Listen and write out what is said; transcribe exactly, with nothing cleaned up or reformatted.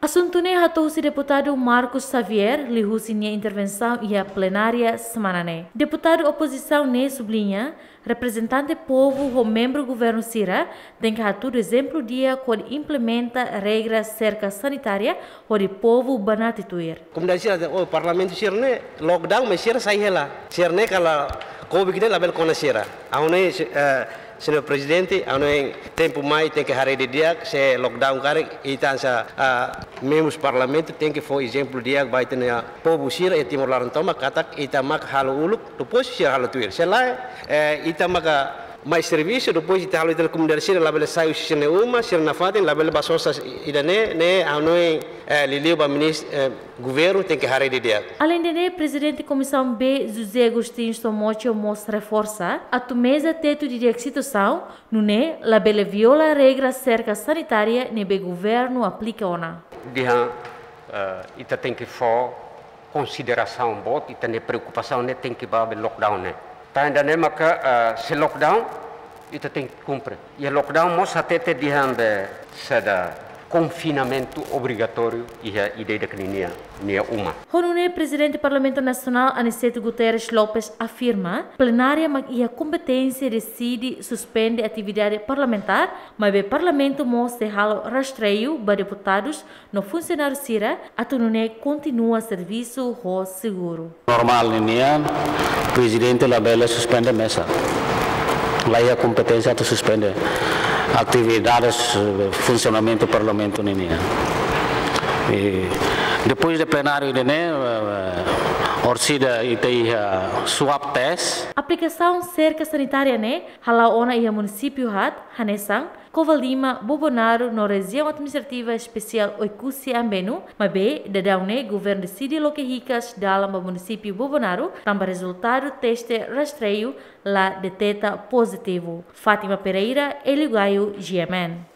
Asuntu ne'e hato'o husi deputadu Marcos Xavier liuhusi nia intervensaun iha plenária semana ne'e. Deputadu opozisaun ne'e subliña, reprezentante povu ho membru governu sira tenke hatudu ezemplu di'ak hodi implementa regra serka sanitária hodi povu banati tuir. Komunidade sira, oh, parlamentu sira ne'e lockdown, mais sira sai hela. Sira ne'e kala Covid ne'e labele kona sira. Ha'u hanoin, eh, Señór Prezidente, ha'u hanoin tempu mai tenke haree didi'ak, se lockdown karik, ita hanesan, ah, membrus parlamentu tenke fó ezemplu di'ak ba ita-nia povu sira iha Timor laran tomak, katak ita mak halo uluk, depois sira halo tuir. Se lae, eh, ita maka mai servisu, depois ita halo ita-nia komunidade sira labele sai husi sira-nia uma, sira nafatin, labele ba sosa ida-ne'e, ne'e ha'u hanoin, eh, liuliu ba minis-, eh, governu tenke haree didi'ak. Aleinde ne'e, Prezidente Komisaun B, José Agostinho Somocho mós reforsa atu meza tetu didi'ak situasaun, nune'e labele viola regra serka sanitária ne'ebé governu aplika ona. Dehan, eh, ita tenke fó konsiderasaun boot, ita-nia preokupasaun ne'e tenke ba be lockdown ne'e. Tanba ida-ne'e maka, eh, se lockdown, ita tenke kumpre. Iha lockdown mós hatete dehan be saida, konfinamentu obrigatóriu iha ida-idak ninia, nia uma. Ho nune'e Prezidente Parlamentu Nasionál Aniceto Guterres Lopes afirma, plenária mak iha kompeténsia deside suspende atividade parlamentár, maibé parlamentu mós sei halo rastreiu ba deputadus no funsionáriu sira atu nune'e kontinua servisu ho seguru. Normál ninian, prezidente labele suspende meza. La iha kompeténsia atu suspende atividades, eh, funsionamentu parlamentu ninian. I depois de plenáriu ida-ne'e, eh, orsida ita iha swab test. Aplikasaun serka sanitária ne'e hala'o ona iha munisípiu haat, hanesan Covalima, Bobonaro no Rejiaun Administrativa Espesiál Oekusi Ambenu, maibé daudaun ne'e governu deside loke hikas dalan ba munisípiu Bobonaro, tanba rezultadu teste rastreiu la deteta pozitivu. Fátima Pereira, Hélio Gaio, G M N.